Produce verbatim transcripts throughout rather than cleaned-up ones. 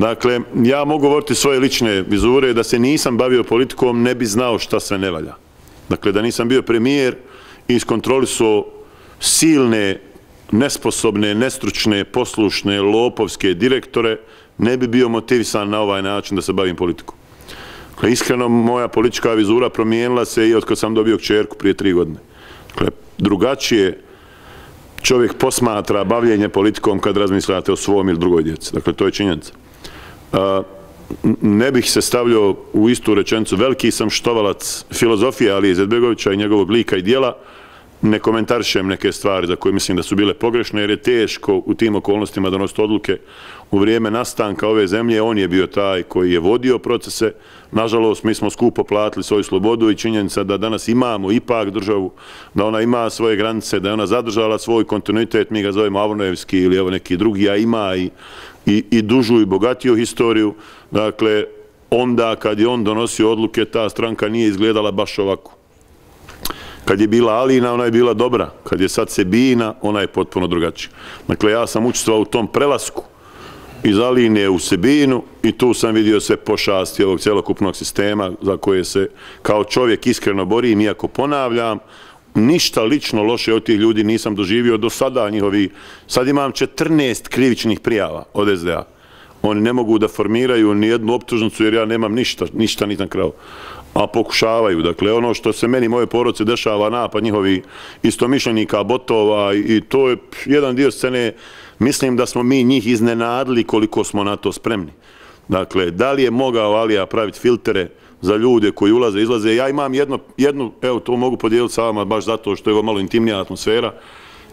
Dakle, ja mogu govoriti svoje lične vizure, da se nisam bavio politikom, ne bi znao šta sve ne valja. Dakle, da nisam bio premijer i iskontrolisao silne, nesposobne, nestručne, poslušne, lopovske direktore, ne bi bio motivisan na ovaj način da se bavim politikom. Dakle, iskreno, moja politička vizura promijenila se i od kad sam dobio kćerku prije tri godine. Dakle, drugačije čovjek posmatra bavljenje politikom kad razmišljate o svom ili drugoj djeci. Dakle, to je činjenica. Ne bih se stavljao u istu rečenicu. Veliki sam štovalac filozofije Alije Izetbegovića i njegovog lika i dijela. Ne komentarišem neke stvari za koje mislim da su bile pogrešne, jer je teško u tim okolnostima donositi odluke. U vrijeme nastanka ove zemlje on je bio taj koji je vodio procese. Nažalost, mi smo skupo platili svoju slobodu i činjenica da danas imamo ipak državu, da ona ima svoje granice, da je ona zadržala svoj kontinuitet, mi ga zovemo Avnojevski ili evo neki drugi, a ima i, i, i dužu i bogatiju historiju. Dakle, onda kad je on donosio odluke, ta stranka nije izgledala baš ovako. Kad je bila Alina, ona je bila dobra. Kad je sad Sebina, ona je potpuno drugačija. Dakle, ja sam učestvovao u tom prelasku iz Aline u Sebinu i tu sam vidio sve pošasti ovog cjelokupnog sistema za koje se kao čovjek iskreno borim, iako ponavljam, ništa lično loše od tih ljudi nisam doživio do sada njihovi. Sad imam četrnaest krivičnih prijava od es de a. Oni ne mogu da formiraju ni jednu optužnicu jer ja nemam ništa, ništa nisam krao. A pokušavaju. Dakle, ono što se meni, moje porodice, dešava, napad njihovi istomišljenika, botova, i to je jedan dio scene. Mislim da smo mi njih iznenadili koliko smo na to spremni. Dakle, da li je mogao Alija praviti filtere za ljude koji ulaze i izlaze? Ja imam jedno, jednu, evo to mogu podijeliti sa vama baš zato što je ovo malo intimnija atmosfera.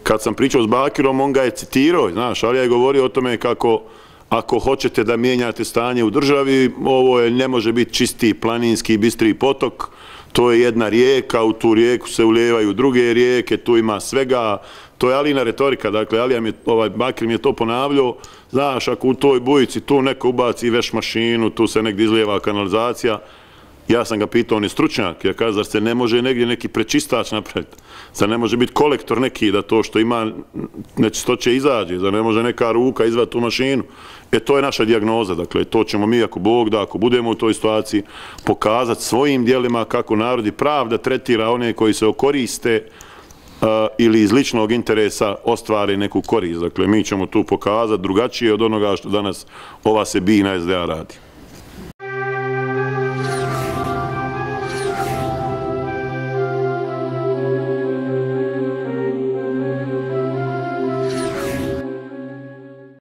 Kad sam pričao s Bakirom, on ga je citirao, znaš, Alija je govorio o tome kako ako hoćete da mijenjate stanje u državi, ovo je, ne može biti čisti planinski, bistri potok, to je jedna rijeka, u tu rijeku se ulijevaju druge rijeke, tu ima svega, to je Alina retorika, dakle, Alija mi je, ovaj, Bakir mi je to ponavljao, znaš, ako u toj bujici tu neko ubaci veš mašinu, tu se negdje izlijeva kanalizacija, ja sam ga pitao, on je stručnjak, ja kažem, zar se ne može negdje neki prečistač napraviti, zar ne može biti kolektor neki da to što ima nečistoće izađe, zar ne može neka ruka izvati tu mašinu. E, to je naša dijagnoza, dakle, to ćemo mi, ako Bog da, ako budemo u toj situaciji, pokazati svojim dijelima kako narod i pravda tretira one koji se okoriste uh, ili iz ličnog interesa ostvare neku korist. Dakle, mi ćemo tu pokazati drugačije od onoga što danas ova Sebina es de a radi.